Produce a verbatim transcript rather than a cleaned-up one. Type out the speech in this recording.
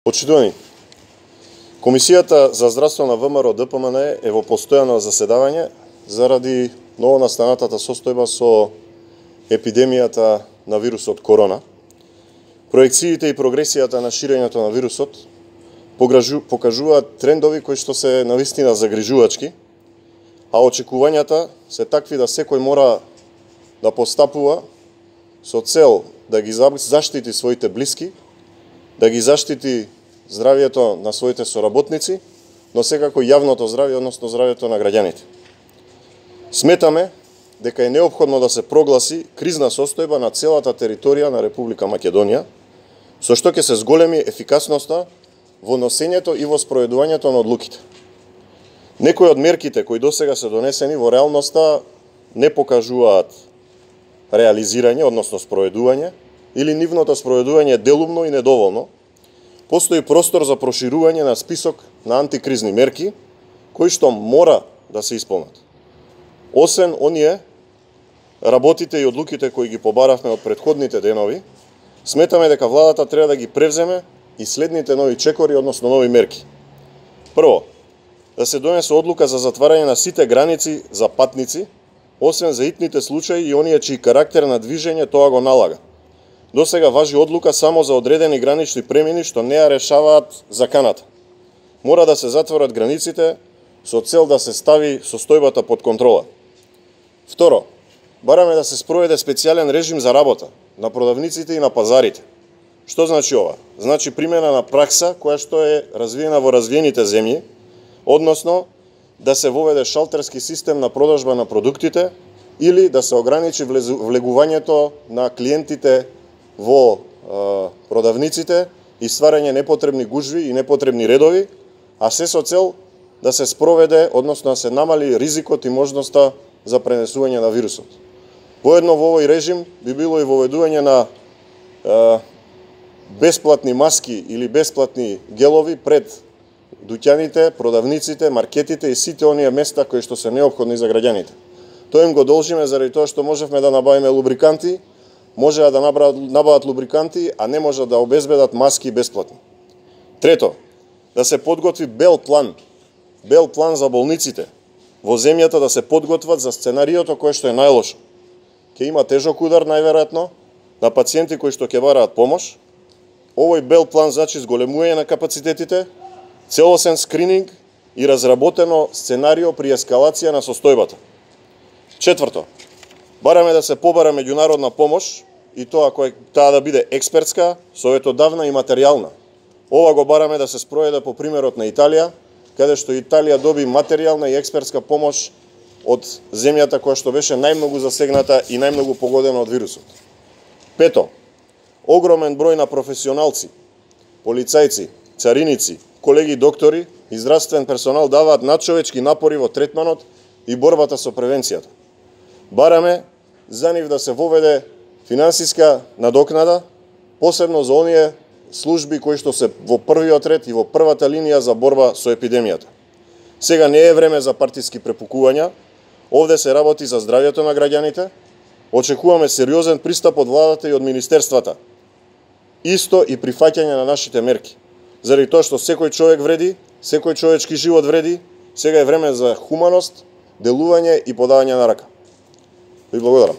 Почитувани, Комисијата за здравство на ВМРО Д П М Н е во постојано заседавање заради новонастанатата состојба со епидемијата на вирусот корона. Проекциите и прогресијата на ширењето на вирусот покажуваат трендови кои што се навистина загрижувачки, а очекувањата се такви да секој мора да постапува со цел да ги заштити своите блиски, да ги заштити здравието на своите соработници, но секако јавното здравје, односно здравието на граѓаните. Сметаме дека е неопходно да се прогласи кризна состојба на целата територија на Република Македонија, со што ќе се зголеми ефикасноста во носењето и во спроведувањето на одлуките. Некои од мерките кои досега се донесени во реалноста не покажуваат реализирање, односно спроведување, или нивното спроведување е делумно и недоволно. Постои простор за проширување на список на антикризни мерки, кои што мора да се исполнат. Освен оние работите и одлуките кои ги побаравме од претходните денови, сметаме дека владата треба да ги превземе и следните нови чекори, односно нови мерки. Прво, да се донесе одлука за затварање на сите граници за патници, освен за итните случаи и оние чии карактер на движење тоа го налага. Досега важи одлука само за одредени гранични премини што не ја решаваат заканата. Мора да се затворат границите со цел да се стави состојбата под контрола. Второ, бараме да се спроведе специјален режим за работа на продавниците и на пазарите. Што значи ова? Значи примена на пракса која што е развиена во развиените земји, односно да се воведе шалтерски систем на продажба на продуктите или да се ограничи влегувањето на клиентите во е, продавниците и стварање непотребни гужви и непотребни редови, а се со цел да се спроведе, односно да се намали ризикот и можноста за пренесување на вирусот. Воедно во овој режим би било и воведување на е, бесплатни маски или бесплатни гелови пред дуќаните, продавниците, маркетите и сите оние места кои што се неопходни за граѓаните. Тоа им го должиме заради тоа што можевме да набавиме лубриканти, можеа да набават лубриканти, а не можат да обезбедат маски бесплатно. Трето, да се подготви бел план, бел план за болниците, во земјата да се подготват за сценариото кое што е најлошо. Ќе има тежок удар најверојатно на пациенти кои што ќе бараат помош. Овој бел план значи зголемување на капацитетите, целосен скрининг и разработено сценарио при ескалација на состојбата. Четврто, бараме да се побара меѓународна помош и тоа која таа да биде експертска, советодавна и материјална. Ова го бараме да се спроведе по примерот на Италија, каде што Италија доби материјална и експертска помош од земјата која што беше најмногу засегната и најмногу погодена од вирусот. Пето, огромен број на професионалци, полицајци, цариници, колеги доктори и здравствен персонал даваат надчовечки напори во третманот и борбата со превенцијата. Бараме за нив да се воведе финансиска надокнада, посебно за оние служби кои што се во првиот ред и во првата линија за борба со епидемијата. Сега не е време за партиски препукувања, овде се работи за здравјето на граѓаните, очекуваме сериозен пристап од владата и од министерствата, исто и прифаќање на нашите мерки. Заради тоа што секој човек вреди, секој човечки живот вреди, сега е време за хуманост, делување и подавање на рака. Ви благодарам.